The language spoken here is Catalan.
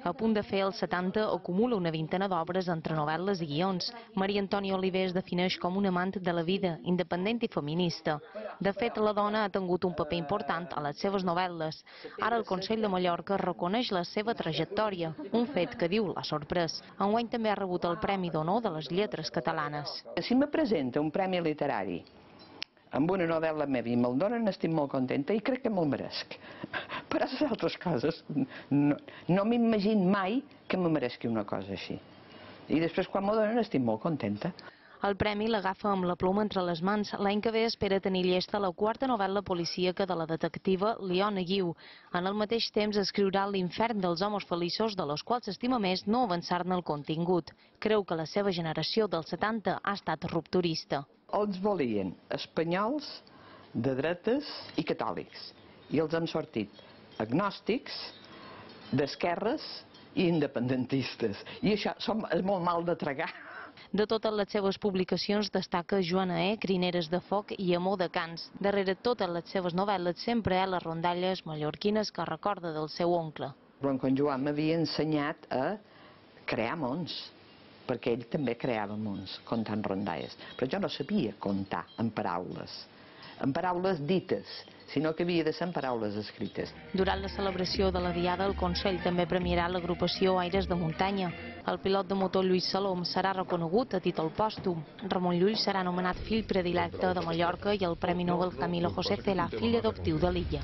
A punt de fer els 70, acumula una vintena d'obres entre novel·les i guions. Maria Antònia Oliver es defineix com un amant de la vida, independent i feminista. De fet, la dona ha tingut un paper important a les seves novel·les. Ara el Consell de Mallorca reconeix la seva trajectòria, un fet que diu l'ha sorprès. Enguany també ha rebut el Premi d'Honor de les Lletres Catalanes. Si me presenta un premi literari amb una novel·la meva i me'l donen, estic molt contenta i crec que me'l meresc. Per a les altres coses, no m'imagino mai que me mereixi una cosa així. I després, quan m'ho donen, estic molt contenta. El premi l'agafa amb la ploma entre les mans. L'any que ve espera tenir llesta la quarta novel·la policíaca de la detectiva Leona Guiu. En el mateix temps escriurà L'infern dels homes feliços, de los quals s'estima més no avançar-ne el contingut. Creu que la seva generació dels 70 ha estat rupturista. Els volien espanyols, de dretes i catòlics. I els han sortit agnòstics, d'esquerres i independentistes. I això és molt mal de tragar. De totes les seves publicacions destaca Joana E, Crineres de foc i Amor de cans. Darrere totes les seves novel·les sempre hi ha les rondalles mallorquines que recorda del seu oncle. En Joan m'havia ensenyat a crear mons, perquè ell també creava mons, contant rondalles. Però jo no sabia contar en paraules dites, sinó que havia de ser en paraules escrites. Durant la celebració de la Diada, el Consell també premiarà l'agrupació Aires de Muntanya. El pilot de motor Lluís Salom serà reconegut a títol pòstum. Ramon Llull serà nomenat fill predilecte de Mallorca i el Premi Nobel Camilo José Cela, fill adoptiu de l'illa.